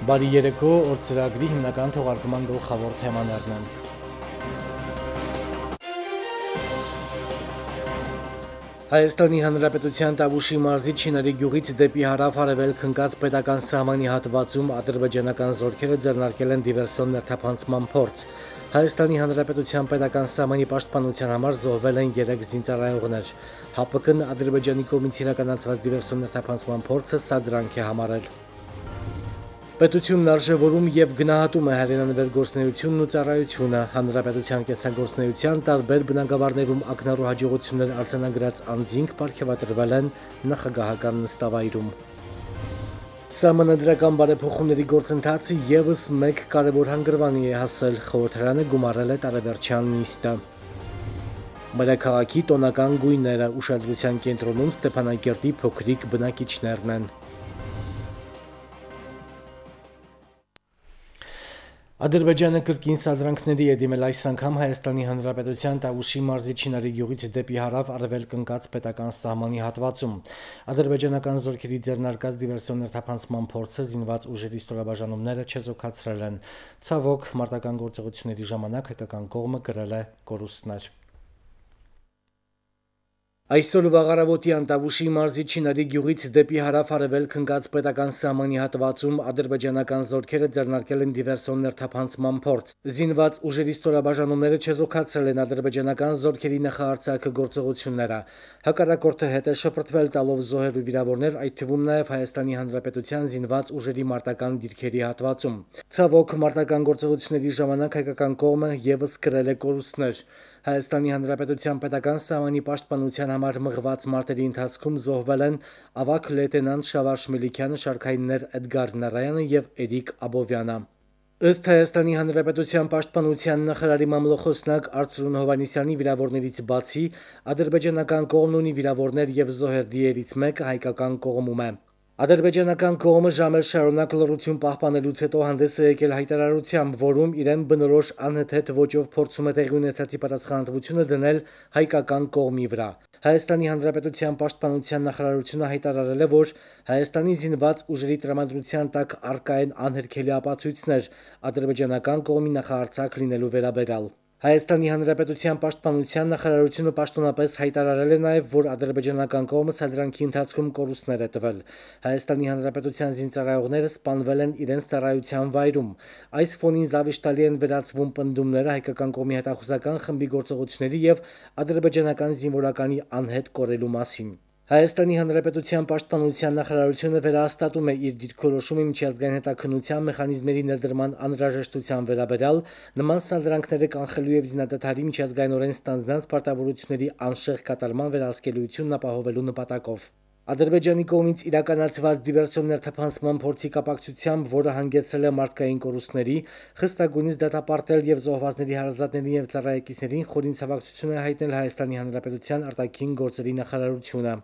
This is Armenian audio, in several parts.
Բարի երեկո, օր ծրագրի հիմնական թողարկման գլխավոր թեմաներն են։ Հայաստանի Հանրապետության Տավուշի մարզի Չինարի գյուղից դեպի հարավ-արևելք ընկած պետական սահմանի հատվածում ադրբեջանական զորքերը ձեռնարկել են դիվերսիոն ներթափանցման փորձ։ Հայաստանի Հանրապետության պետական սահմանի պաշտպանության համար զոհվել են 3 զինծառայողներ։ ՀԱՊԿ-ն Ադրբեջանի կողմից իրականացված դիվերսիոն ներթափանցման փորձը սադրանք է համարել։ Պետությունն արժևորում եւ գնահատում է հայրենանվեր գործունեությունն ու ծառայությունը, հանրապետության կենսագործունեության տարբեր բնագավառներում ակնառու հաջողություններ արձանագրած անձինք պարգևատրվել են նախագահական նստավայրում։ Սահմանադրական բարեփոխումների գործընթացը եւս մեկ կարևոր հանգրվանի է հասել, խորհրդարանը գումարել է տարեվերջյան նիստը։ Մայրաքաղաքի տոնական գույները ուշադրության կենտրոնում Ստեփանակերտի փոքրիկ բնակիչներն են։ Ադրբեջանը կրկին սադրանքների է դիմել այս անգամ Հայաստանի Հանրապետության Տավուշի մարզի Չինարի գյուղից դեպի հարավ-արևելք ընկած պետական սահմանի հատվածում։ Ադրբեջանական զորքերի ձեռնարկած դիվերսիոն ներթափանցման փորձը զինված ուժերի ստորաբաժանումները չեզոքացրել են։ Ցավոք, մարտական գործողությունների ժամանակ հայկական կողմը կրել է կորուստներ։ Այսօր վաղարավոտյան Տավուշի մարզի Չինարի գյուղից դեպի հարավ-արևելք ընկած պետական սահմանի հատվածում ադրբեջանական զորքերը ձեռնարկել են դիվերսիոն ներթափանցման փորձ։ Զինված ուժերի ստորաբաժանումները չեզոքացրել են ադրբեջանական զորքերի նախահարձակը գործողությունները։ Հակառակորդը հետ է շպրտվել տալով զոհեր ու վիրավորներ, այդ թվում նաև Հայաստանի Հանրապետության զինված ուժերի մարտական դիրքերի հատվածում։ Ցավոք, մարտական գործողությունների ժամանակ հայկական կողմը եւս կրել է կորուստներ։ Հայաստանի Հանրապետության պետական սահմանի պաշտպանության համար մղված մարտերի ընթացքում զոհվել են ավագ լեյտենանտ Շավարշ Մելիքյանը, շարքայիններ Էդգար Նարայանը եւ Էրիկ Աբովյանը։ Ըստ Հայաստանի Հանրապետության պաշտպանության նախարարի մամլոխոսնակ Արծրուն Հովհաննիսյանի վիրավորներից բացի ադրբեջանական կողմն ունի վիրավորներ եւ զոհեր, դիերից մեկը հայկական կողմում է։ Ադրբեջանական կողմը ժամեր շարունակ լռություն պահպանելուց հետո հանդես է եկել հայտարարությամբ, որում իրեն բնորոշ անհեթեթ ոճով փորձում է տեղի ունեցածի պատասխանատվությունը դնել հայկական կողմի վրա։ Հայաստանի Հանրապետության պաշտպանության նախարարությունը հայտարարել է, որ Հայաստանի զինված ուժերի տրամադրության տակ առկա են անհերքելի ապացույցներ ադրբեջանական կողմի նախահարձակ լինելու վերաբերյալ։ Հայաստանի Հանրապետության պաշտպանության նախարարությունը պաշտոնապես հայտարարել է նաև, որ ադրբեջանական կողմը սադրանքի ընթացքում կորուստներ է տվել։ Հայաստանի Հանրապետության զինծառայողները սպանվել են իրենց ծառայության վայրում։ Այս ֆոնին զավիշտալի են վերածվում պնդումները հայկական կողմի հետախուզական խմբի գործողությունների եւ ադրբեջանական զինվորականի անհետ կորելու մասին։ Հայաստանի Հանրապետության պաշտպանության նախարարությունը վերահաստատում է իր դիրքորոշումը միջազգային հետաքննության մեխանիզմերի ներդրման անհրաժեշտության վերաբերյալ նման սադրանքները կանխելու եւ զինադադարի միջազգայինորեն ստանձնած պարտավորությունների անշեղ կատարման վերահսկելիությունն ապահովելու նպատակով։ Ադրբեջանի կողմից իրականացված դիվերսիոն ներթափանցման փորձի կապակցությամբ, որը հանգեցրել է մարդկային կորուստների, խստագույնից դատապարտել եւ զոհվածների հարազատներին եւ ծառայեկիցներին խորին ցավակցություն է հայտնել Հայաստանի Հանրապետության արտաքին գործերի նախարարությունը։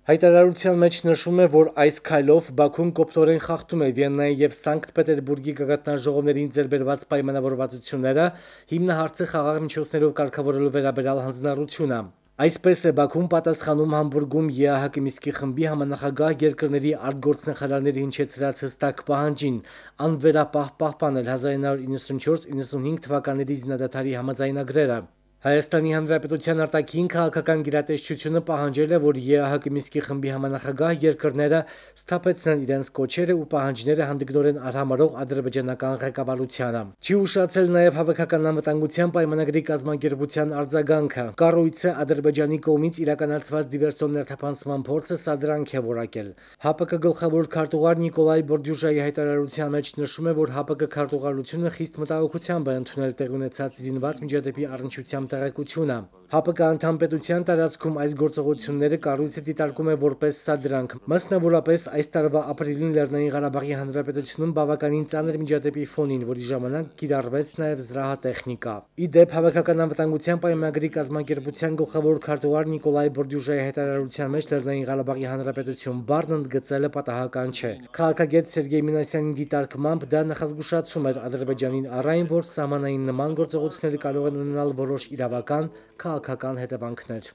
Հայտարարության մեջ նշվում է, որ այս քայլով Բաքուն կոպտորեն խախտում է Վիեննայի եւ Սանկտ Պետերբուրգի գագաթնաժողովներին ձեռբերված պայմանավորվածությունները, հիմնահարցը խաղաղ միջոցներով կարգավորելու վերաբերյալ հանձնառությունը։ Այսպես է Բաքուն պատասխանում Համբուրգում ԵԱՀԿ Մինսկի խմբի համանախագահ երկրների արտգործնախարարների հնչեցրած հստակ պահանջին անվերապահ պահպանել 1994-95 թվականների զինադադարի համաձայնագրերը։ Հայաստանի Հանրապետության արտաքին քաղաքական գերատեսչությունը պահանջել է, որ ԵԱՀԿ Մինսկի խմբի համանախագահ երկրները սթափեցնեն իրենց կոչերը ու պահանջները հանդգնորեն արհամարող ադրբեջանական ղեկավարությանը։ Չի ուշացել նաև հավաքական անվտանգության պայմանագրի կազմակերպության արձագանքը։ Կառույցը Ադրբեջանի կողմից իրականացված դիվերսիոն ներթափանցման փորձը սադրանք է որակել։ ՀԱՊԿ գլխավոր քարտուղար Նիկոլայ Բորդյուժայի հայտարարության մեջ նշվում է, որ ՀԱՊԿ քարտուղարությունը խիստ մտահոգությամբ է ընդունել տեղի ունեցած զինված միջադեպի առնչությամբ տեղեկությունը։ ՀԱՊԿ անդամ պետության տարածքում այս գործողությունները կառույցը դիտարկում է որպես սադրանք, մասնավորապես այս տարվա ապրիլին Լեռնային Ղարաբաղի Հանրապետությունում բավականին ծանր միջադեպի ֆոնին, որի ժամանակ կիրառվեց նաև զրահատեխնիկա։ Ի դեպ, Հավաքական անվտանգության պայմանագրի կազմակերպության գլխավոր քարտուղար Նիկոլայ Բորդյուժայի հայտարարության մեջ Լեռնային Ղարաբաղի Հանրապետություն բառն ընդգծելը պատահական չէ։ Քաղաքագետ Սերգեյ Մինասյանի դիտարկմամբ դա նախազգուշացում էր Ադրբեջանին առ այն, որ սահմանային նման գործողությունները կարող են ունենալ որոշ իրավական, քաղաքական հետևանքներ։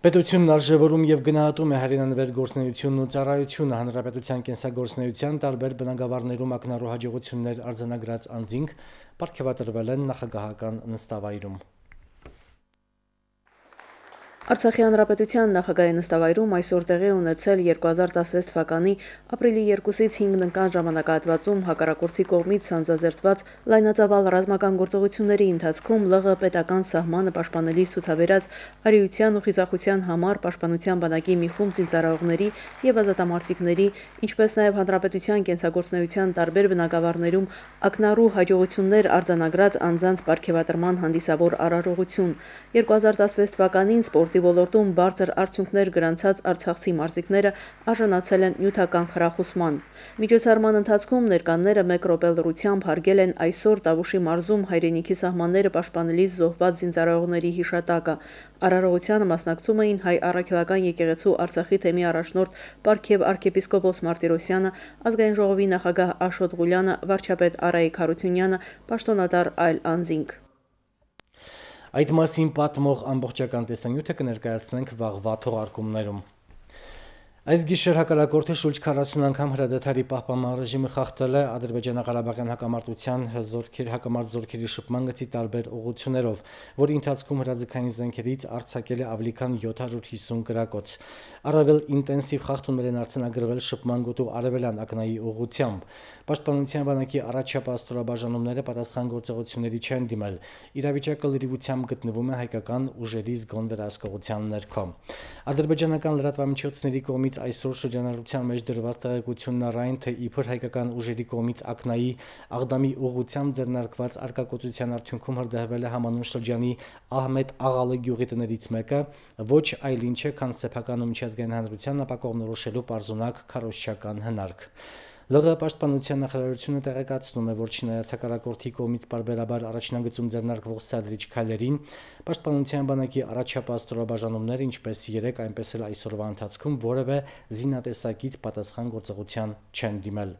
Պետությունն արժևորում եւ գնահատում է հայրենանվեր գործունեությունն ու ծառայությունը հանրապետության կենսագործունեության տարբեր բնագավառներում ակնառու հաջողություններ արձանագրած անձինք պարգևատրվել են նախագահական նստավայրում։ Արցախի հանրապետության նախագահի նստավայրում այսօր տեղի ունեցել 2016 թվականի ապրիլի 2-ից 5 ժամանակահատվածում հակառակորդի կողմից սանձազերծված լայնածավալ ռազմական գործողությունների ընթացքում ԼՂ պետական սահմանը պաշտպանելիս ցուցաբերած արիության ու խիզախության համար պաշտպանության բանակի մի խումբ զինծառայողների եւ ազատամարտիկների, ինչպես նաեւ հանրապետության կենսագործունեության տարբեր բնագավառներում ակնառու հաջողություններ արձանագրած անձանց պարգևատրման հանդիսավոր արարողություն 2016 թվականին սպորտի ոլորտում բարձր արդյունքներ գրանցած արցախցի մարզիկները արժանացել են նյութական խրախուսման։ Միջոցառման ընթացքում ներկաները 1 րոպե լռությամբ հարգել են այսօր Տավուշի մարզում հայրենիքի սահմանները պաշտպանելիս զոհված զինծառայողների հիշատակը։ Արարողությանը մասնակցում էին հայ առաքելական եկեղեցու Արցախի թեմի առաջնորդ Պարքև arczepiskopos Martirosյանը, ազգային ժողովի նախագահ Աշոտ Ղուլյանը, վարչապետ Արայիկ Հարությունյանը, պաշտոնատար այլ անձինք։ Այդ մասին պատմող ամբողջական տեսանյութը կներկայացնենք վաղվա թողարկումներում։ Այս գիշեր հակառակորդը շուրջ 40 անգամ հրադադարի պահպանման ռեժիմը խախտել է ադրբեջանա-ղարաբաղյան հակամարտության հակամարտ զորքերի շփման գծի տարբեր ուղղություններով, որի ընթացքում հրաձգային զենքերից արձակել է ավելի քան 750 գրակոց։ Առավել ինտենսիվ խախտումներ են արձանագրվել շփման գոտու արևելյան ակնայի ուղղությամբ։ Պաշտպանության բանակի առաջապահ ստորաբաժանումները պատասխան գործողությունների չեն դիմել։ Իրավիճակը լրիվությամբ գտնվում է հայկական ուժերի զգոն վերահսկողության ներքո։ Ադրբեջանական լրատվամիջոցների կողմից այսօր շրջանառության մեջ դրված տեղեկությունն առայն, թե իբր հայկական ուժերի կողմից ակնայի Աղդամի ուղղությամբ ձեռնարկված արկակոծության արդյունքում հրդեհվել է համանուն շրջանի Ահմեդ Աղալը գյուղի տներից մեկը, ոչ այլ ինչ է, քան սեփական ու միջազգային հանրության ապակողմնորոշելու պարզունակ քարոզչական հնարք։ ԼՂ պաշտպանության նախարարությունը տեղեկացնում է, որ չնայած հակառակորդի կողմից պարբերաբար առաջնագծում ձեռնարկվող սադրիչ քայլերին, պաշտպանության բանակի առաջապահ ստորաբաժանումները ինչպես երեկ, այնպես էլ այսօրվա ընթացքում որևէ զինատեսակից պատասխան գործողության չեն դիմել։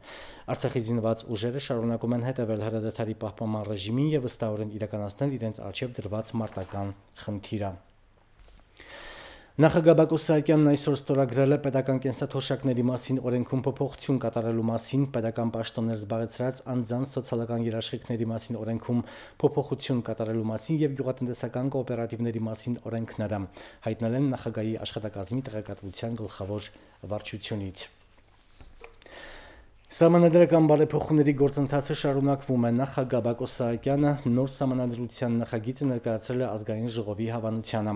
Արցախի զինված ուժերը շարունակում են հետևել հրադադարի պահպանման ռեժիմին եւ վստահորեն իրականացնել իրենց առջեւ դրված մարտական խնդիրը։ Նախագահ Բակո Սահակյանն այսօր ստորագրել է պետական կենսաթոշակների մասին օրենքում փոփոխություն կատարելու մասին, պետական պաշտոններ զբաղեցրած անձանց սոցիալական երաշխիքների մասին օրենքում փոփոխություն կատարելու մասին եւ գյուղատնտեսական կոոպերատիվների մասին օրենքները, հայտնել են նախագահի աշխատակազմի տեղեկատվության գլխավոր վարչությունից։ Սահմանադրական բարեփոխումների գործընթացը շարունակվում է։ Նախագահ Բակո Սահակյանը նոր սահմանադրության նախագիծը ներկայացրել է ազգային ժողովի հավանությանը։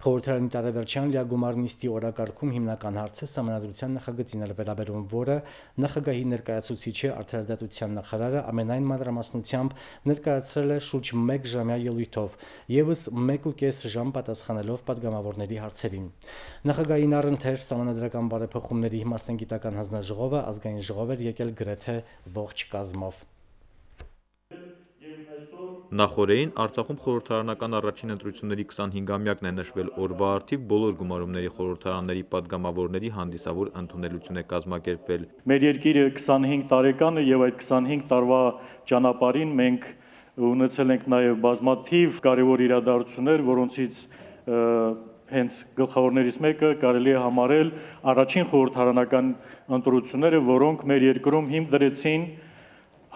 Խորհրդարանի տարեվերջյան լիագումար նիստի օրակարգում հիմնական հարցը սահմանադրության նախագծին էր վերաբերում, որը նախագահի ներկայացուցիչը արդարադատության նախարարը ամենայն մանրամասնությամբ ներկայացրել է շուրջ 1 ժամյա ելույթով, եւս 1.5 ժամ պատասխանելով պատգամավորների հարցերին։ Նախագահին առընթեր սահմանադրական բարեփոխումների մասնագիտական հանձնաժողովը ազգային ժողով էր եկել գրեթե ողջ կազմով։ Նախորդին Արցախում խորհրդարանական առաջին ընտրությունների 25-ամյակն է նշվել օրվա արդիվ բոլոր գումարումների խորհրդարանների պատգամավորների հանդիսավոր ընդունելություն է կազմակերպվել։ Մեր երկիրը 25 տարեկան է եւ այդ 25 տարվա ճանապարհին մենք ունեցել ենք նաեւ բազմաթիվ կարևոր իրադարձություններ, որոնցից հենց գլխավորներից մեկը կարելի է համարել առաջին խորհրդարանական ընտրությունները, որոնք մեր երկրում հիմք դրեցին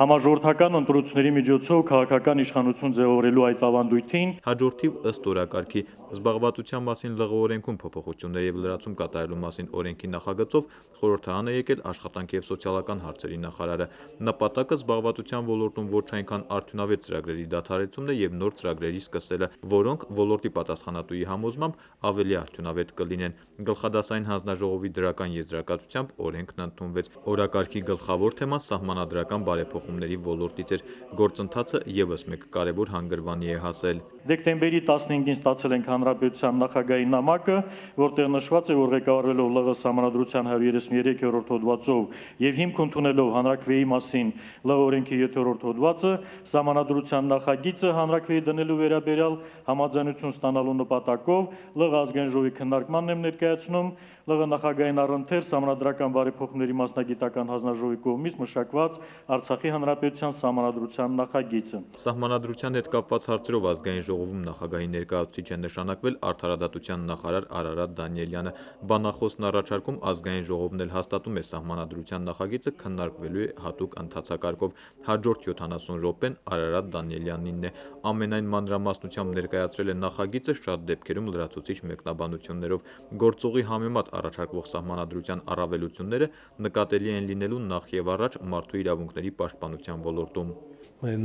համաժողովրդական ընտրությունների միջոցով քաղաքական իշխանություն ձևավորելու այդ ավանդույթին։ Հաջորդիվ ըստ օրակարգի զբաղվածության մասին ԼՂ օրենքում փոփոխություններ եւ լրացում կատարելու մասին օրենքի նախագծով խորհրդարան է եկել աշխատանքի եւ սոցիալական հարցերի նախարարը։ Նպատակը զբաղվածության ոլորտում ոչ այնքան արդյունավետ ծրագրերի դադարեցումն է եւ նոր ծրագրերի սկսելը, որոնք ոլորտի պատասխանատուի համոզմամբ ավելի արդյունավետ կլինեն։ Գլխադասային հանձնաժողովի դրական եզրակացությամբ օրենքն ընդունվեց։ Օրակարգի գլխավոր թեման սահմանադրական բարեփոխումներ փոփոխումների ոլորտից էր, գործընթացը ևս մեկ կարևոր հանգրվանի է հասել։ Դեկտեմբերի 15-ին ստացել ենք Հանրապետության նախագահի նամակը, որտեղ նշված է, որ ղեկավարվելով ԼՂ Սահմանադրության 133-րդ հոդվածով եւ հիմք ընդունելով հանրաքվեի մասին ԼՂ օրենքի 7-րդ հոդվածը, Սահմանադրության նախագիծը հանրաքվեի դնելու վերաբերյալ համաձայնություն ստանալու նպատակով ԼՂ ազգային ժողովի քննարկմանն եմ ներկայացնում ԼՂ նախագահային առընթեր Սահմանադրական բարեփոխումների մասնագիտական հանձնաժողովի կողմից մշակված Արցախի Հանրապետության Սահմանադրության նախագիծը։ Սահմանադրության հետ կապված հարցերով ազգային ժողովում նախագահի ներկայացուցիչ է նշանակվել արդարադատության նախարար Արարատ Դանիելյանը։ Բանախոսն առաջարկում ազգային ժողովն էլ հաստատում է սահմանադրության նախագիծը քննարկվելու է հատուկ ընթացակարգով։ Հաջորդ 70 րոպեն Արարատ Դանիելյանինն է։ Ամենայն մանրամասնությամբ ներկայացրել է նախագիծը շատ դեպքերում լրացուցիչ մեկնաբանություններով։ Գործողի համեմատ առաջարկվող սահմանադրության առավելությունները նկատելի են լինելու նախ եւ առաջ մարդու իրավունքների պաշտպանության ոլորտում։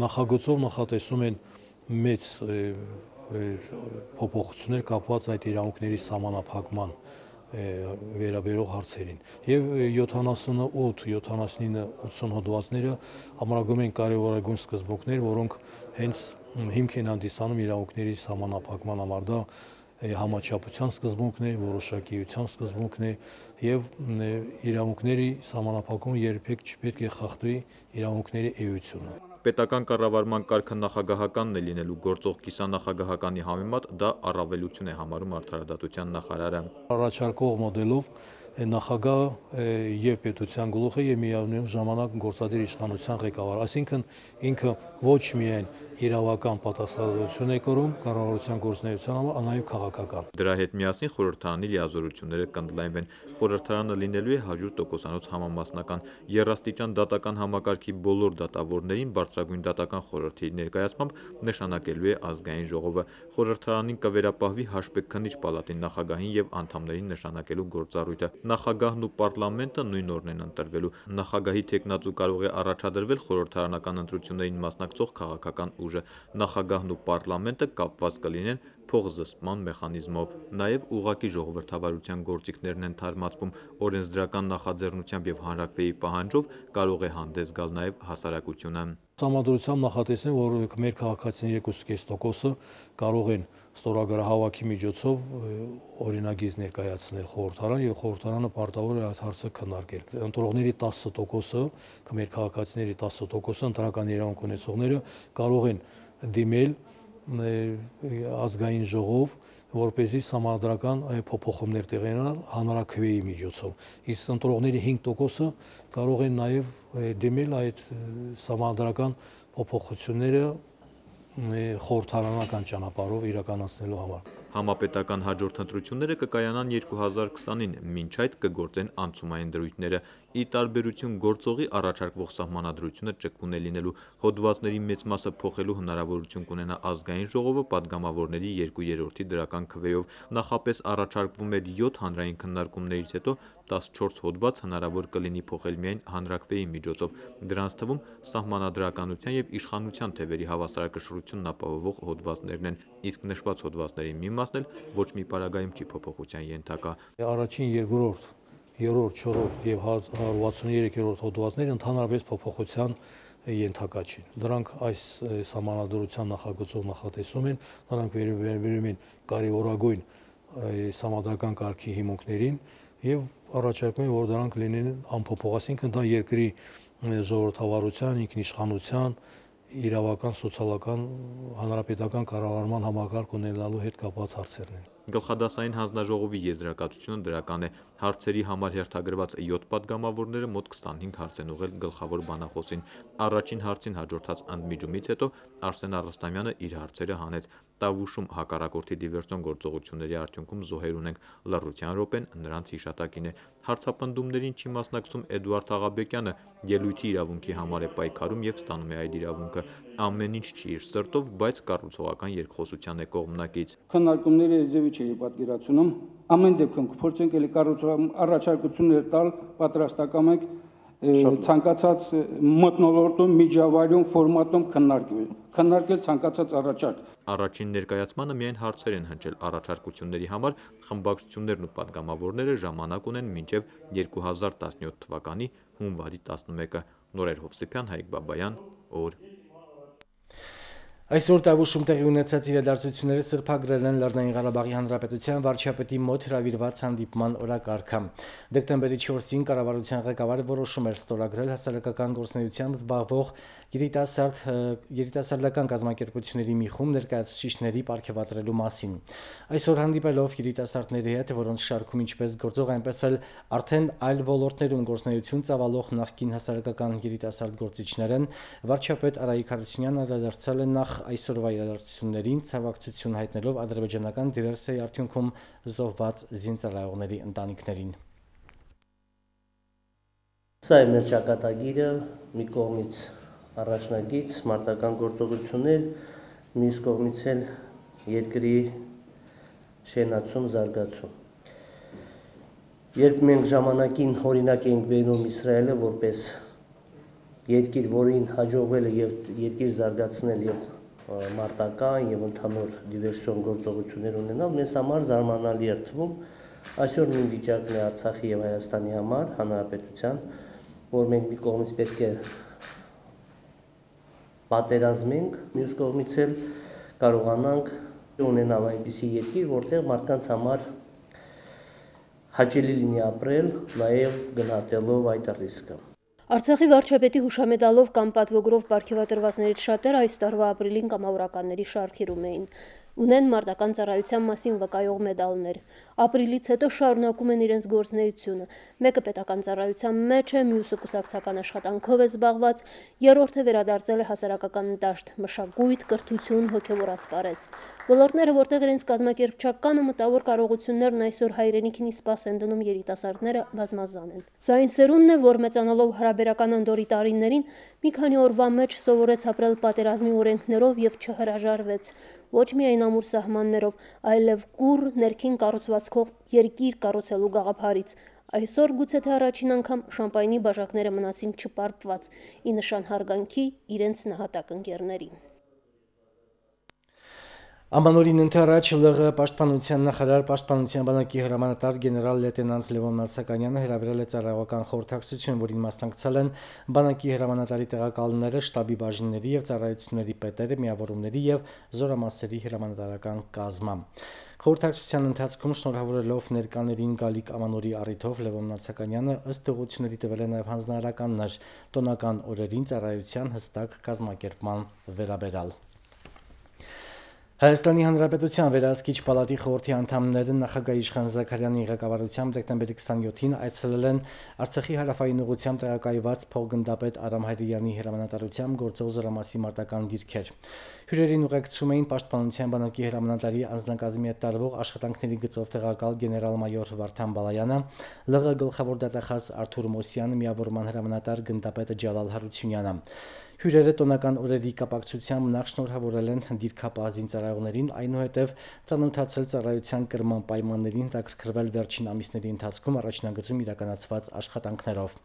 Նախագծով նախատեսում են մեծ փոփոխություններ կապված այդ իրավունքների սահմանափակման վերաբերող հարցերին եւ 78, 79, 80 հոդվածները ամրագրում են կարևորագույն սկզբունքներ, որոնք հենց հիմք են հանդիսանում իրավունքների սահմանափակման համար։ Դա համաչափության սկզբունքն է, որոշակիության սկզբունքն է եւ իրավունքների սահմանափակումը երբեք չպետք է խախտի իրավունքների էությունը։ Պետական կառավարման կարգը նախագահականն է լինելու գործող կիսանախագահականի համեմատ դա առավելություն է համարում արդարադատության նախարարը։ Առաջարկող մոդելով նախագահը եւ պետության գլուխը եւ միևնույն ժամանակ գործադիր իշխանության ղեկավար, այսինքն ինքը ոչ միայն իրավական պատասխանատվություն է կրում կառավարության գործունեության համար, այլ նաեւ քաղաքական։ Դրա հետ միասին խորհրդարանի լիազորությունները կընդլայնվեն։ Խորհրդարանը լինելու է 100% համամասնական, երաստիճան դատական համակարգի բոլոր դատավորներին բարձրագույն դատական խորհրդի ներկայացմամբ նշանակելու է ազգային ժողովը։ Խորհրդարանին կվերապահվի հաշվեկնիչ պալատի նախագահին եւ անդամներին նշանակելու գործառույթը։ Նախագահն ու պարլամենտը նույն օրն են ընտրվելու։ Նախագահի թեկնածու կարող է առաջադրվել խորհրդարանական ընտրություններին մասնակցող քաղաքական ուժը։ Նախագահն ու պարլամենտը կապված կլինեն փոխզսպման մեխանիզմով։ Նաև ուղղակի ժողովրդավարության գործիքներն են թարմացվում, օրենսդրական նախաձեռնությամբ եւ հանրաքվեի պահանջով կարող է հանդես գալ նաև հասարակությունը։ Սահմանադրությամբ նախատեսեն, որ մեր քաղաքացիների 2.5%-ը կարող են ստորագրահավաքի միջոցով օրինագիծ ներկայացնել խորհրդարան եւ խորհրդարանը պարտավոր է այդ հարցը քննարկել։ Ընտրողների 10%-ը, մեր քաղաքացիների 10%-ը ընտրական իրավունք ունեցողները կարող են դիմել ազգային ժողով, որպեսզի սահմանադրական փոփոխումներ տեղի ունենան հանրաքվեի միջոցով։ Իսկ ընտրողների 5%-ը կարող են նաև դիմել այդ սահմանադրական փոփոխությունները խորհրդարանական ճանապարհով իրականացնելու համար։ Համապետական հաջորդ ընտրությունները կկայանան 2020-ին, մինչ այդ կգործեն անցումային դրույթները։ Ի տարբերություն գործողի առաջարկվող սահմանադրությունը ճկուն է լինելու, հոդվածների մեծ մասը փոխելու հնարավորություն կունենա ազգային ժողովը падգամավորների 2/3 դրական քվեով։ Նախապես առաջարկվում էր 7 հանրային քննարկումներից հետո 14 հոդված հնարավոր կլինի փոխել միայն հանրաքվեի միջոցով։ Դրանց թվում սահմանադրականության եւ իշխանության թևերի հավասարակշռությունն ապահովող հոդվածներն են, իսկ նշված հոդվածների մի մասն էլ ոչ մի պարագայում չի փոփոխության ենթակա։ Առաջին, երկրորդ, երրորդ, չորրորդ եւ 163-րդ հոդվածները ընդհանրապես փոփոխության ենթակա չեն։ Դրանք այս սահմանադրության նախագծով նախատեսում են, նրանք վերաբերում են կարևորագույն սահմանադրական կարգի հիմունքներին եւ առաջարկում են, որ դրանք լինեն անփոփոխ, այսինքն դա երկրի ժողովրդավարության, ինքնիշխանության, իրավական, սոցիալական, հանրապետական կառավարման համակարգ ունենալու հետ կապված հարցերն են։ Գլխադասային հանձնաժողովի եզրակացությունը դրական է։ Հարցերի համար հերթագրված 7 падգամավորները մոտ 25 հարց են ուղղել գլխավոր բանախոսին։ Առաջին հարցին հաջորդած ընդմիջումից հետո Արսեն Արստամյանը իր հարցերը հանեց։ Տավուշում հակառակորդի դիվերսիոն գործողությունների արդյունքում զոհեր ունենք, լռության րոպեն նրանց հիշատակին է։ Հարցապնդումներին չի մասնակցում Էդուարդ Աղաբեկյանը, ելույթի իրավունքի համար է պայքարում եւ ստանում է այդ իրավունքը։ Ամեն ինչ չի իր սրտով, բայց կառուցողական երկխոսության է կողմնակից։ Քննարկումները եզևի չի պատկերացնում, ամեն դեպքում կփորձենք էլի կառուցողական առաջարկություններ տալ, պատրաստական ենք ցանկացած մթնոլորտում, միջավայրում, ֆորմատում քննարկել ցանկացած առաջարկ։ Առաջին ներկայացմանը միայն հարցեր են հնչել առաջարկությունների համար, խմբակցություններն ու падգամավորները ժամանակ ունեն մինչև 2017 թվականի հունվարի 11-ը։ Նորեր Հովսեփյան, Հայկ Բաբայան, օր։ Այսօր Տավուշում տեղի ունեցած իրադարձությունները սրբագրել են Լեռնային Ղարաբաղի Հանրապետության վարչապետի մոտ հրավիրված հանդիպման օրակարգը։ Դեկտեմբերի 4-ին կառավարության ղեկավարը որոշում էր ստորագրել հասարակական գործունեությամբ զբաղվող երիտասարդական կազմակերպությունների մի խումբ ներկայացուցիչների պարգևատրելու մասին։ Այսօր հանդիպելով երիտասարդների հետ, որոնց շարքում ինչպես գործող, այնպես էլ արդեն այլ ոլորտներում գործունեություն ծավալող նախկին հասարակական երիտասարդ գործիչներ են, վարչապետ Արայիկ Հարությունյանն անդրադարձել է նախ այսօրվա իրադարձություններին, ցավակցություն հայտնելով ադրբեջանական դիվերսիայի արդյունքում զոհված զինծառայողների ընտանիքներին։ Սա է մեր ճակատագիրը, մի կողմից առաջնագիծ, մարտական գործողություններ, մյուս կողմից էլ երկրի շենացում, զարգացում։ Երբ մենք ժամանակին օրինակ ենք բերում Իսրայելը որպես երկիր, որին հաջողվել է եւ երկիր զարգացնել եւ մարտական եւ ընդհանուր դիվերսիոն գործողություններ ունենալ, մեզ համար զարմանալի էր թվում։ Այսօր նույն վիճակն է Արցախի եւ Հայաստանի համար, հանրապետության, որ մենք մի կողմից պետք է պատերազմենք, մյուս կողմից էլ կարողանանք ունենալ այնպիսի երկիր, որտեղ մարդկանց համար հաճելի լինի ապրել, նաեւ գնահատելով այդ ռիսկը։ Արցախի վարչապետի հուշամեդալով կամ պատվոգրով պարգևատրվածներից շատերը այս տարվա ապրիլին կամավորականների շարքերում էին։ Ունեն մարտական ծառայության մասին վկայող մեդալներ։ Ապրիլից հետո շարունակում են իրենց գործունեությունը։ Մեկը պետական ծառայության մեջ է, մյուսը կուսակցական աշխատանքով է զբաղված, երրորդը վերադարձել է հասարակական դաշտ, մշակույթ, կրթություն, հոգևոր ասպարեզ։ Ոլորտները, որտեղ իրենց կազմակերպչական ու մտավոր կարողություններն այսօր հայրենիքին իսպաս են դնում երիտասարդները, բազմազան են։ Սա այն սերունդն է, որ մեծանալով հարաբերական անդորի տարիներին մի քանի օրվա մեջ սովորեց ապրել պատերազմի օրենքներով եւ չհրաժարվեց ոչ միայն ամուր սահմաններով, այլև կուռ ներքին կառուցվածքով երկիր կառուցելու գաղափարից։ Այսօր գուցե թե առաջին անգամ շամպայնի բաժակները մնացին չպարպված, ի նշան հարգանքի իրենց նահատակ ընկերներին։ Ամանորին ընթരാճ ԼՂ պաշտպանության նախարար պաշտպանության բանակի հրամանատար գեներալ լեյտենանտ Լևոն Նացականյանը հրավիրել է ծառայողական խորհրդակցություն, որին մասնակցել են բանակի հրամանատարի տեղակալները, շտաբի բաժինների եւ ծառայությունների պետերը, միավորումների եւ զորամասերի հրամանատարական կազմը։ Խորհրդակցության ընթացքում շնորհավորելով ներկաներին գալիք Ամանորի առիթով Լևոն Նացականյանը ըստ ուղղությունների տվել է նաեւ հանձնարարականներ տոնական օրերին ծառայության հստակ կազմակերպման վերաբերյալ։ Հայաստանի Հանրապետության վերահսկիչ պալատի խորհրդի անդամները նախագահ Իշխան Զաքարյանի ղեկավարությամբ դեկտեմբերի 27-ին այցելել են Արցախի հարավային ուղղությամբ տեղակայված փոխգնդապետ Արամ Հայրյանի հրամանատարությամբ գործող զորամասի մարտական դիրքեր։ Հյուրերին ուղեկցում էին պաշտպանության բանակի հրամանատարի անձնակազմի հետ տարվող աշխատանքների գծով տեղակալ գեներալ-մայոր Վարդան Բալայանը, ԼՂ գլխավոր դատախազ Արթուր Մոսյանը, միավորման հրամանատար գնդապետը Ջալալ Հարությունյանը։ Հյուրերը տոնական օրերի կապակցությամբ նախ շնորհավորել են դիրքապահ զինծառայողներին, այնուհետև ծանոթացել ծառայության կրման պայմաններին, հետաքրքրվել վերջին ամիսների ընթացքում առաջնագծում իրականացված աշխատանքներով։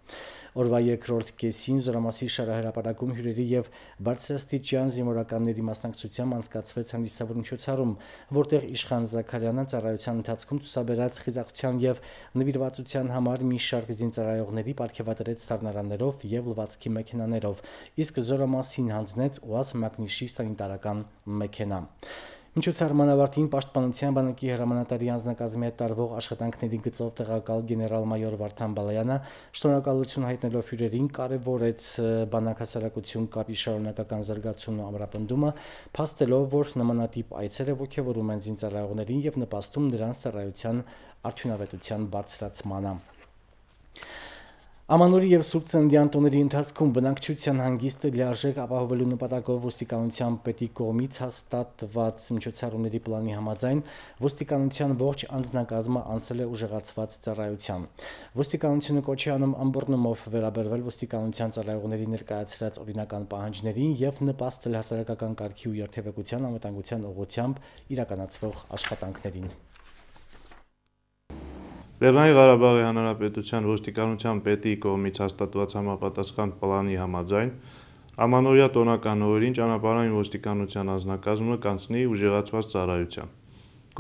Օրվա երկրորդ կեսին զորամասի շարահրապարակում հյուրերի եւ բարձրաստիճան զինվորականների մասնակցությամբ անցկացվեց հանդիսավոր միջոցառում, որտեղ Իշխան Զաքարյանը ծառայության ընթացքում ցուսաբերած խիզախության եւ նվիրվածության համար մի շարք զինծառայողների պարգևատրեց սառնարաններով եւ լվացքի մեքենաներով, իսկ զորամասին հանձնեց ՈՒԱԶ Մագնիշի սանիտարական մեքենա։ Միջոցառման ավարտին պաշտպանության բանակի հրամանատարի անձնակազմի հետ տարվող աշխատանքների գծով տեղակալ գեներալ-մայոր Վարդան Բալայանը շնորհակալություն հայտնելով հյուրերին կարևորեց բանակ հասարակություն կապի շարունակական զարգացումն ու ամրապնդումը, փաստելով, որ նմանատիպ այցերը ողջևորում են զինծառայողներին եւ նպաստում նրանց ծառայության արդյունավետության բարձրացմանը։ Ամանորի եւ Սուրբ Ծննդյան տոների ընթացքում բնակչության հանգիստը լիարժեք ապահովելու նպատակով ոստիկանության պետի կողմից հաստատված միջոցառումների պլանի համաձայն ոստիկանության ողջ անձնակազմը անցել է ուժեղացված ծառայության։ Ոստիկանությունը կոչ է անում ըմբռնումով վերաբերվել ոստիկանության ծառայողների ներկայացրած օրինական պահանջներին եւ նպաստել հասարակական կարգի ու երթևեկության անվտանգության ուղղությամբ իրականացվող աշխատանքներին։ Լեռնային Ղարաբաղի Հանրապետության ոստիկանության պետի կողմից հաստատված համապատասխան պլանի համաձայն ամանորյա տոնական օրերին ճանապարհային ոստիկանության անձնակազմը կանցնի ուժեղացված ծառայության։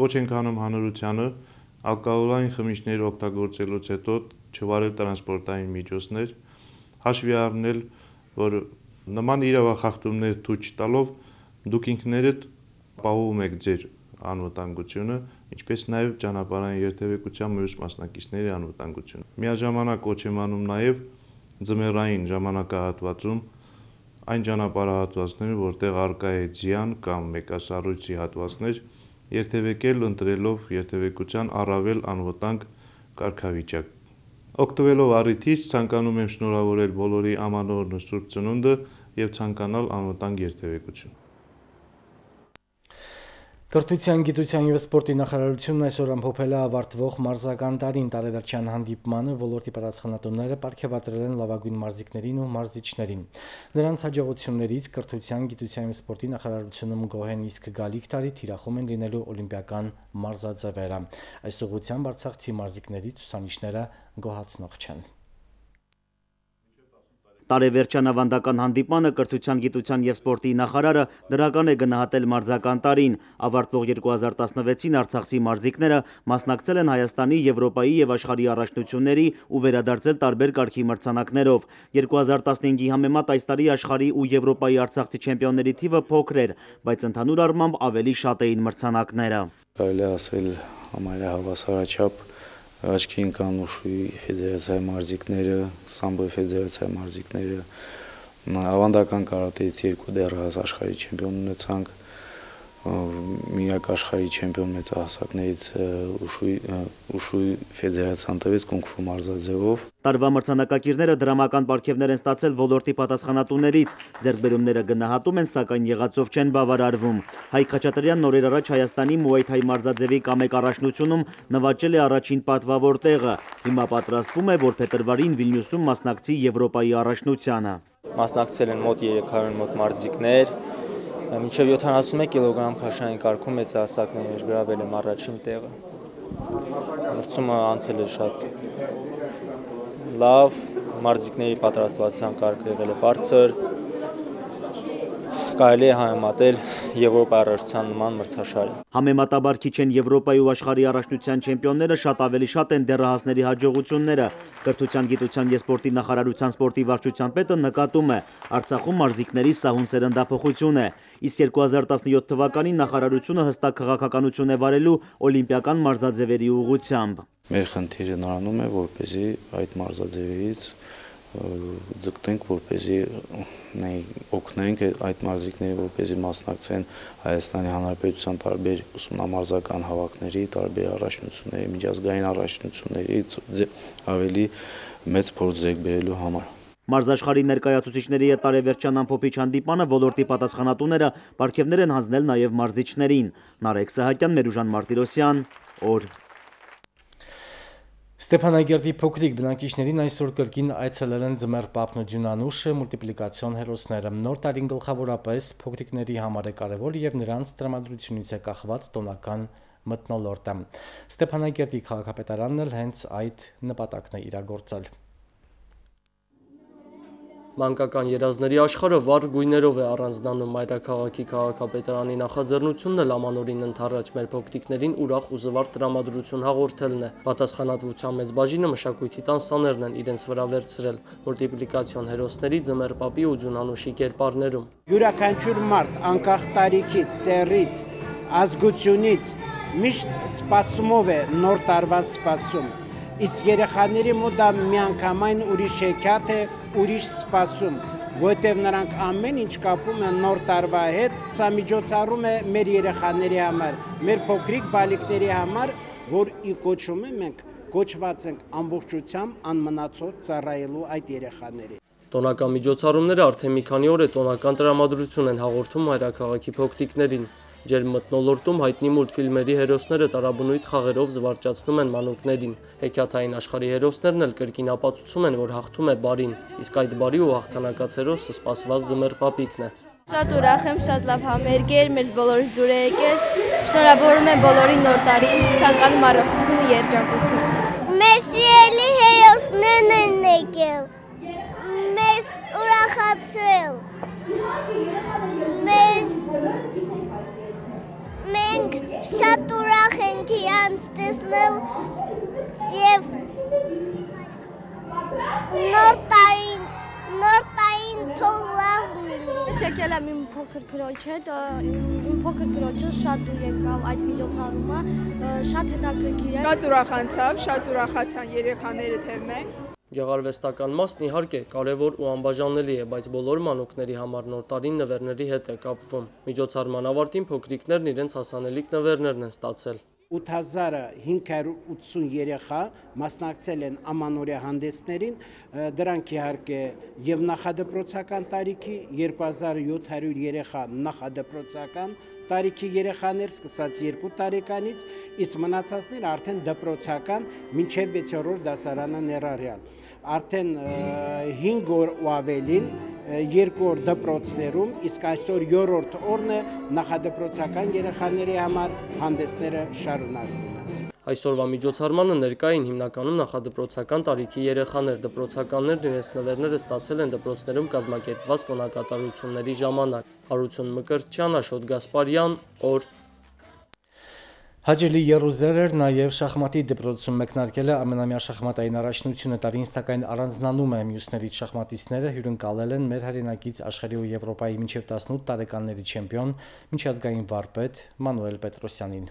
Կոչ ենք անում հանրությանը ալկոհոլային խմիչքներ օգտագործելուց հետո չվարել տրանսպորտային միջոցներ, հաշվի առնել, որ նման իրավախախտումներ ցույց տալով դուք ինքներդ ապահովում եք ձեր անվտանգությունը, ինչպես նաև ճանապարհային երթևեկության մյուս մասնակիցների անվտանգությունը։ Միաժամանակ կոչ եմ անում նաև ձմեռային ժամանակահատվածում այն ճանապարհահատվածները, որտեղ առկա է ձյան կամ մեկասառույցի հատվածներ, երթևեկել ընտրելով երթևեկության առավել անվտանգ կարգավիճակ։ Օգտվելով առիթից ցանկանում եմ շնորհավորել բոլորի ամանորն ու Սուրբ Ծնունդը եւ ցանկանալ անվտանգ երթևեկություն։ Կրթության, գիտության և սպորտի նախարարությունն այսօր ամփոփել է ավարտվող մարզական տարին տարեվերջյան հանդիպմանը ոլորտի պատասխանատուները պարգևատրել են լավագույն մարզիկներին ու մարզիչներին։ Նրանց հաջողություններից կրթության, գիտության և սպորտի նախարարությունում գոհ են, իսկ գալիք տարի թիրախում են լինելու օլիմպիական մարզաձևերը։ Այս ուղղությամբ արցախցի մարզիկների ցուցանիշները գոհացնող չեն։ Տարեվերջյան ավանդական հանդիպմանը կրթության, գիտության և սպորտի նախարարը դրական է գնահատել մարզական տարին։ Ավարտվող 2016-ին արցախցի մարզիկները մասնակցել են Հայաստանի, Եվրոպայի և աշխարհի առաջնությունների ու վերադարձել տարբեր կարգի մրցանակներով։ 2015-ի համեմատ այս տարի աշխարհի ու Եվրոպայի արցախցի չեմպիոնների թիվը փոքր էր, բայց ընդհանուր առմամբ ավելի շատ էին մրցանակները։ Կարելի է ասել համարյա հավասարաչափ աչքի ընկան ուշուի ֆեդերացիայի մարզիկները, սամբոյի ֆեդերացիայի մարզիկները, ավանդական կարատեից 2 դեռահաս աշխարհի չեմպիոն ունեցանք, միակ աշխարհի չեմպիոն մեծահասակներից ուշուի ֆեդերացիան տվեց կունգ-ֆու մարզաձևով։ Տարվա մրցանակակիրները դրամական պարգևներ են ստացել ոլորտի պատասխանատուներից, ձեռքբերումները գնահատում են, սակայն եղածով չեն բավարարվում։ Հայկ Խաչատրյանն օրեր առաջ Հայաստանի Մուայ Թայ մարզաձևի կամեկ առաջնությունում նվաճել է առաջին պատվավոր տեղը։ Հիմա պատրաստվում է, որ փետրվարին Վիլնյուսում մասնակցի Եվրոպայի առաջնությանը։ Մասնակցել են մոտ 300 մոտ մարզիկներ, մինչև 71 կիլոգրամ քաշային կարգում մեծահասակներ գրավել եմ առաջին տեղը։ Մրցումը անցել է շատ լավ, մարզիկների պատրաստվածության կարգը եղել է բարձր, կարելի է համեմատել Եվրոպայի առաջնության նման մրցաշարին։ Համեմատաբար քիչ են Եվրոպայի ու աշխարհի առաջնության չեմպիոնները, շատ ավելի շատ են դեռահասների հաջողությունները։ Կրթության, գիտության և սպորտի նախարարության սպորտի վարչության պետը նկատում է, Արցախում մարզիկների սահուն սերնդափոխություն է, իսկ 2017 թվականին նախարարությունը հստակ քաղաքականություն է վարելու օլիմպիական մարզաձևերի ուղղությամբ։ Մեր խնդիրը նրանում է, որպեսզի այդ մարզաձևերից ձգտենք, որպեսզի օգնենք այդ մարզիկներին, որպեսզի մասնակցեն Հայաստանի Հանրապետության տարբեր ուսումնամարզական հավաքների, տարբեր առաջնությունների, միջազգային առաջնությունների ավելի մեծ փորձ ձեռք բերելու համար։ Մարզաշխարհի ներկայացուցիչների հետ տարեվերջյան ամփոփիչ հանդիպանը ոլորտի պատասխանատուները պարգևներ են հանձնել նաև մարզիչներին։ Նարեկ Սահակյան, Մերուժան Մարտիրոսյան, օր։ Ստեփանագերդի փոքրիկ բնակիչներին այսօր կրկին այցելել են ձմեռ Պապնոդյուն անուշը, մուլտիպլիկացիոն հերոսները։ Նոր տարին գլխավորապես փոքրիկների համար է կարևոր եւ նրանց տրամադրությունից է կախված տոնական մթնոլորտը։ Ստեփանագերդի քաղաքապետարանն էլ հենց այդ նպատակն է իրագործել։ Մանկական երազների աշխարհը վառ գույներով է առանձնանում մայրաքաղաքի քաղաքապետարանի նախաձեռնությունն էլ ամանորին ընթառաջ մեր փոքրիկներին ուրախ ու զվարթ տրամադրություն հաղորդելն է։ Պատասխանատվության մեծ բաժինը մշակույթի տանսաներն են իրենց վրա վերցրել մուլտիպլիկացիոն հերոսների ձմեռ Պապի ու Ջունանուշի կերպարներում։ Յուրաքանչյուր մարդ անկախ տարիքից, սեռից, ազգությունից միշտ սպասումով է նոր տարվա սպասում։ Իսկ երեխաների մոտ դա միանգամայն ուրիշ հեքիաթ է, ուրիշ սպասում, որտեղ նրանք ամեն ինչ կապում են նոր տարվա հետ, սա միջոցառում է մեր երեխաների համար, մեր փոքրիկ բալիկների համար, որ ի կոչում է մենք կոչված ենք ամբողջությամբ անմնացող ծառայելու այդ երեխաների։ Տոնական միջոցառումները արդեն մի քանի օր է տոնական տրամադրություն են հաղորդում մայրաքաղաքի փոքրիկներին։ Ջերմ մթնոլորտում հայտնի մուլտֆիլմերի հերոսները տարաբնույթ խաղերով զվարճացնում են մանուկներին։ Հեքիաթային աշխարհի հերոսներն էլ կրկին ապացուցում են, որ հաղթում է բարին, իսկ այդ բարի ու հաղթանակած հերոսը սպասված ձմեռ Պապիկն է։ Շատ ուրախ եմ, շատ լավ համերգ էր, մեզ բոլորիս դուր է եկել։ Շնորհավորում եմ բոլորին նոր տարին, ցանկանում առողջություն ու երջանկություն։ Մեր սիրելի հերոսներն են եկել։ Մեզ ուրախացրել։ Մենք շատ ուրախ ենք իրանց տեսնել և նոր տարին նոր տային թող լավն լինի։ Ես եկել եմ իմ փոքր քրոջ հետ, իմ փոքր քրոջը շատ դուր եկավ այդ միջոցառումը, շատ հետաքրքիր է։ Շատ ուրախացան երեխաները թե մենք։ Գեղարվեստական մասն իհարկե կարևոր ու անբաժանելի է, բայց բոլոր մանուկների համար նոր տարին նվերների հետ է կապվում։ Միջոցառման ավարտին փոքրիկներն իրենց հասանելիք նվերներն են ստացել։ 8580 երեխա մասնակցել են ամանորյա հանդեսներին, դրանք իհարկե եւ նախադպրոցական տարիքի, 2700 երեխա նախադպրոցական տարիքի երեխաներ սկսած 2 տարեկանից, իսկ մնացածները արդեն դպրոցական մինչև 6-րդ դասարանը ներառյալ։ Արդեն 5 օր ու ավելին 2 օր դպրոցներում, իսկ այսօր 7-րդ օրն է նախադպրոցական երեխաների համար հանդեսները շարունակվում են։ Այսօրվա միջոցառմանը ներկա էին հիմնականում նախադպրոցական տարիքի երեխաներ, դպրոցականներն իրենց նվերները ստացել են դպրոցներում կազմակերպված տոնակատարությունների ժամանակ։ Հարություն Մկրտչյան, Աշոտ Գասպարյան, օր։ Հաջելի Եռուզերեր նաև շախմատի դպրոցում մեկնարկել է ամենամյա շախմատային առաջնությունը տարին, սակայն առանձնանում է մյուսներից շախմատիստները հյուրընկալել են մեր հայրենակից աշխարհի ու Եվրոպայի մինչև 18 տարեկանների չեմպիոն, միջազգային վարպետ Մանուել Պետրոսյանին։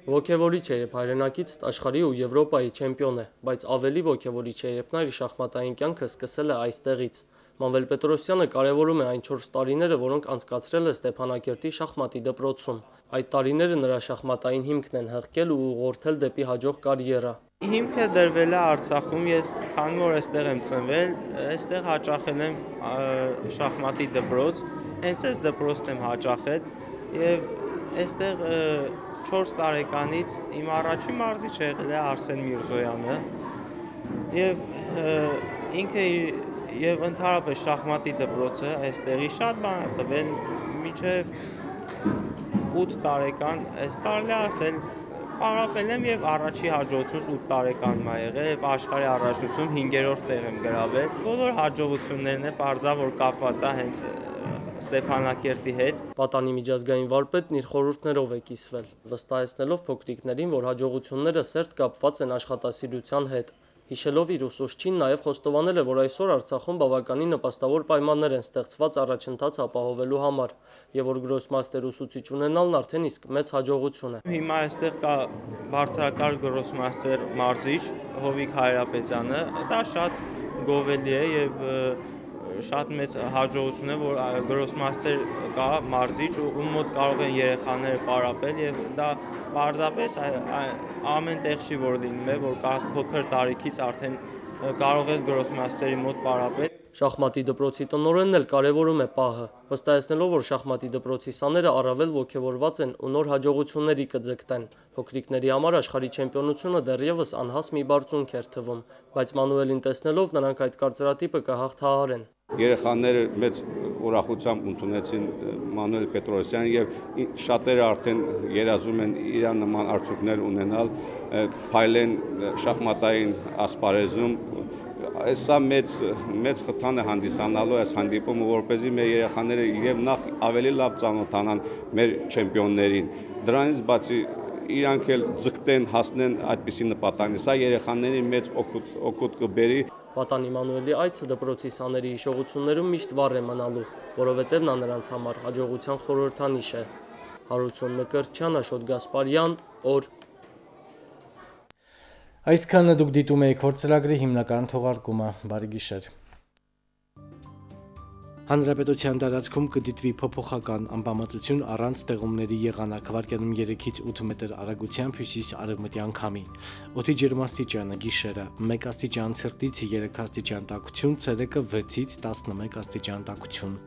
Ոգևորիչ է, երբ հայրենակից աշխարհի ու Եվրոպայի չեմպիոն է, բայց ավելի ոգևորիչ է, երբ նա իր շախմատային կյանքը սկսել է այստեղից։ Մանուել Պետրոսյանը կարևորում է այն 4 տարիները, որոնք անցկացրել է Ստեփանակերտի շախմատի դպրոցում։ Այդ տարիները նրա շախմատային հիմքն են հղկել ու ուղղորդել դեպի հաջող կարիերա։ Հիմքը դրվել է Արցախում, ես քանի որ այստեղ եմ ծնվել, այստեղ հաճախել եմ շախմատի դպրոց, հենց այս դպրոցն եմ հաճախել եւ այստեղ 4 տարեկանից իմ առաջին մարզիչը եղել է Արսեն Միրզոյանը եւ ինքը եւ ընդհանրապես շախմատի դպրոցը այստեղի շատ բան է տվել մինչեւ 8 տարեկան, այս կարելի է ասել պարապել եմ եւ առաջի հաջողությունս 8 տարեկանում է եղել եւ աշխարհի առաջնությունում 5-րդ տեղ եմ գրավել։ Բոլոր հաջողություններն է բարձա որ կապված է հենց Ստեփանակերտի հետ։ Պատանի միջազգային վարպետն իր խորհուրդներով է կիսվել, վստահեցնելով փոքրիկներին, որ հաջողությունները սերտ կապված են աշխատասիրության հետ։ Հիշելով իր ուսուցչին նաև խոստովանել է, որ այսօր Արցախում բավականին նպաստավոր պայմաններ են ստեղծված առաջընթաց ապահովելու համար, եւ որ գրոսմաստեր ուսուցիչ ունենալն արդեն իսկ մեծ հաջողություն է։ Հիմա այստեղ կա բարձրակարգ գրոսմաստեր մարզիչ Հովիկ Հայրապետյանը, դա շատ գովելի է եւ շատ մեծ հաջողություն է, որ գրոսմաստեր կա մարզիչ, ում մոտ կարող են երեխաները պարապել եւ դա պարզապես ամեն տեղ չի որ լինում է, որ կա փոքր տարիքից արդեն կարող ես գրոսմաստերի մոտ պարապել։ Շախմատի դպրոցի տնօրենն էլ կարևորում է պահը, վստահեցնելով, որ շախմատի դպրոցի սաները առավել ոգևորված են ու նոր հաջողությունների կձգտեն։ Փոքրիկների համար աշխարհի չեմպիոնությունը դեռևս անհաս մի բարձունք էր թվում, բայց Մանուելին տեսնելով նրանք այդ կարծրատիպը կհաղթահարեն։ Երեխաները մեծ ուրախությամբ ընդունեցին Մանուել Պետրոսյանին եւ շատերը արդեն երազում են իրան նման արդյունքներ ունենալ, փայլեն շախմատային ասպարեզում։ Սա մեծ խթան է հանդիսանալու այս հանդիպումը, որպեսզի մեր երեխաները եւ նախ ավելի լավ ծանոթանան մեր չեմպիոններին։ Դրանից բացի իրանք էլ ձգտեն հասնեն այդպիսի նպատակի։ Սա երեխաների մեծ օգուտ կբերի։ Պատանի Մանուելի այցը դպրոցի սաների հիշողություններում միշտ վառ է մնալու, որովհետև նա նրանց համար հաջողության խորհրդանիշ է։ Հարություն Մկրտչյան, Աշոտ Գասպարյան, օր։ Այսքանը դուք դիտում եք Հոր ծրագրի հիմնական թողարկումը, բարի գիշեր։ Հանրապետության տարածքում կդիտվի փոփոխական անբավարարություն առանց տեղումների եղանակ, վարկյանում 3-ից 8 մետր արագությամբ հյուսիս-արևմտյան քամի։ Օդի ջերմաստիճանը՝ գիշերը 1 աստիճան ցրտից 3 աստիճան տաքություն, ցերեկը 6-ից 11 աստիճան տաքություն։